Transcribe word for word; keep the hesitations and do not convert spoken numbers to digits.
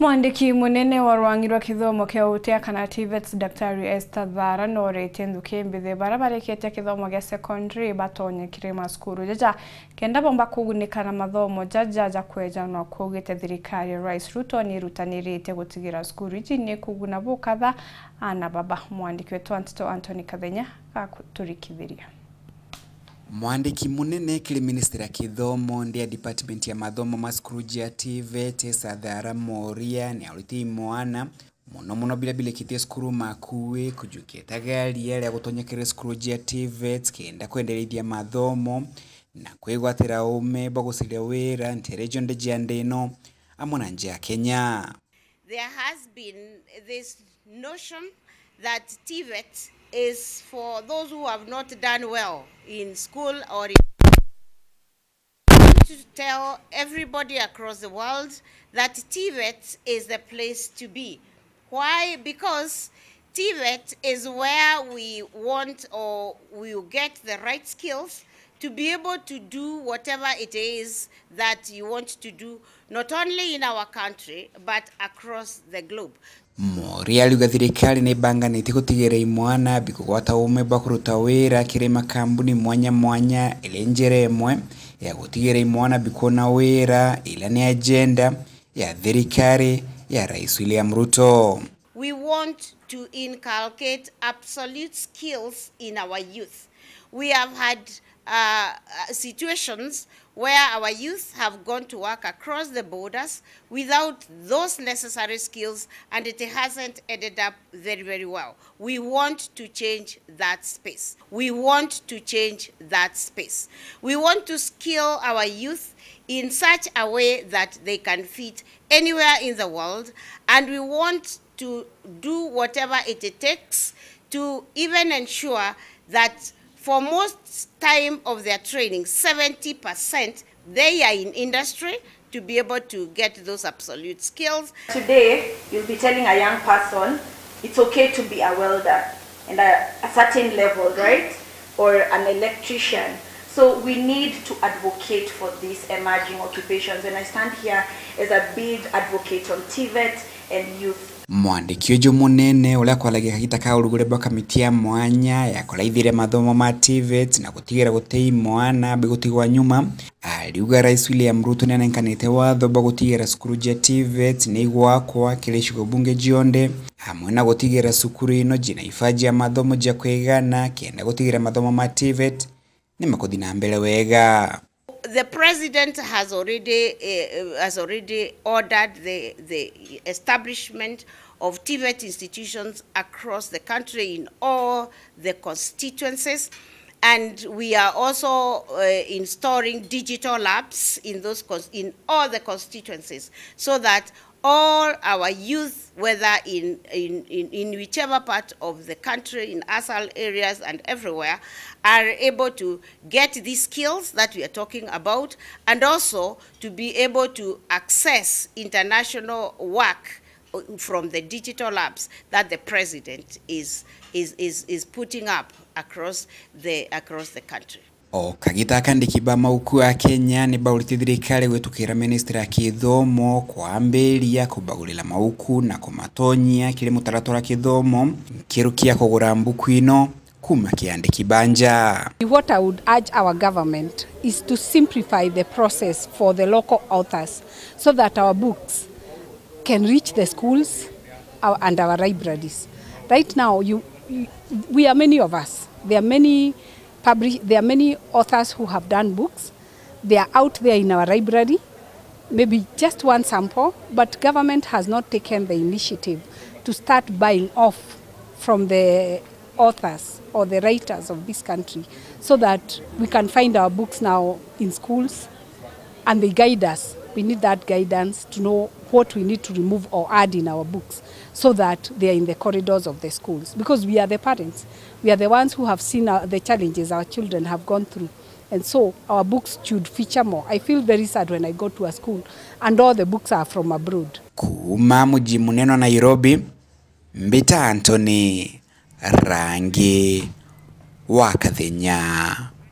Mwandiki munene wa rwangi rwa kithomo kia utea kana TVETs, Daktari Esther Thara, noretie nthuki mbithi bara barikitie kithomo gia secondary batonye kiri macukuru jaja kenda bomba kugunika na mathomo jaja ja kwejanwa. Kuugite thirikari ya Rais Ruto ni irutanirite gutigira cukuru iji ni kuguna bukatha ana baba. Mwandiki wetu wa nteto Anthony Kathenya gakuturikithiria. Mwandiki munene kiri ministry ya kithomo ndi ya department ya mathomo ma cukuru jia TVET, Esther Thara Moria, ni aurite imwana mono mono biria birikitie cukuru Makuui kujukia itagaria ria gutonya kiri cukuru jia TVET kenda kwenderithia mathomo na kwigwatira uume bwa gucaria wira ntere cionthe cia nthi ino amwe na nja ya Kenya. There has been this notion that TVET is for those who have not done well in school or in to tell everybody across the world that TVET is the place to be. Why? Because TVET is where we want or we get the right skills to be able to do whatever it is that you want to do, not only in our country, but across the globe. Moria ariuga thirikari ni ibanganitie gutigira imwana bikugwata uume bwa kuruta wira kiri makambuni mwanya mwanya, iri njira imwe ya gutigira imwana bikwona wira, ila ni agenda ya thirikari ya Rais William Ruto. We want to inculcate absolute skills in our youth. We have had uh, uh, situations where our youth have gone to work across the borders without those necessary skills, and it hasn't ended up very, very well. We want to change that space. We want to change that space. We want to skill our youth in such a way that they can fit anywhere in the world, and we want to do whatever it takes to even ensure that for most time of their training, seventy percent they are in industry to be able to get those absolute skills. Today, you'll be telling a young person it's okay to be a welder and a, a certain level, right? Or an electrician. So we need to advocate for these emerging occupations. And I stand here as a big advocate on TVET and youth. Mwandiki uju munene uria akwaragia kagita ka urugure bwa kamiti ya mwanya ya kuraithiria mathomo ma TVET na gutigira guti imwana bigutigwa nyuma, ariuga Rais William Ruto ni anenkanite watho bwa gutigira cukuru jia TVET ni igwakwa kiri icigo bunge jionthe, amwe na gutigira cukuru ino jina ifa jia mathomo jia kwigana kenda gutigira mathomo ma TVET ni makuthi na mbere wega. The president has already, eh, has already ordered the, the establishment of TVET institutions across the country in all the constituencies. And we are also, uh, installing digital labs in those cons-, in all the constituencies, so that all our youth, whether in, in, in, in whichever part of the country, in asal areas and everywhere, are able to get these skills that we are talking about, and also to be able to access international work, uh, from the digital labs that the president is, is, is, is putting up across the, across the country. O kagita ka andiki ba mauku a Kenya ni baurite thirikari gwitukira ministry ya kithomo kwambiria kubagurira mauku na kumatonyia kiri mutaratara wa kithomo nkiru kia kugura mbuku ino kuma ki andiki ba nja. What I would urge our government is to simplify the process for the local authors so that our books can reach the schools, our, and our libraries. Right now, you, you, we are many of us. There are many publish-, there are many authors who have done books. They are out there in our library, maybe just one sample, but government has not taken the initiative to start buying off from the authors or the writers of this country so that we can find our books now in schools and they guide us. We need that guidance to know what we need to remove or add in our books so that they are in the corridors of the schools, because we are the parents. We are the ones who have seen, uh, the challenges our children have gone through. And so our books should feature more. I feel very sad when I go to a school and all the books are from abroad. Kuuma muji munene wa Nairobi, mbita Anthony Rangi wa Kathenya.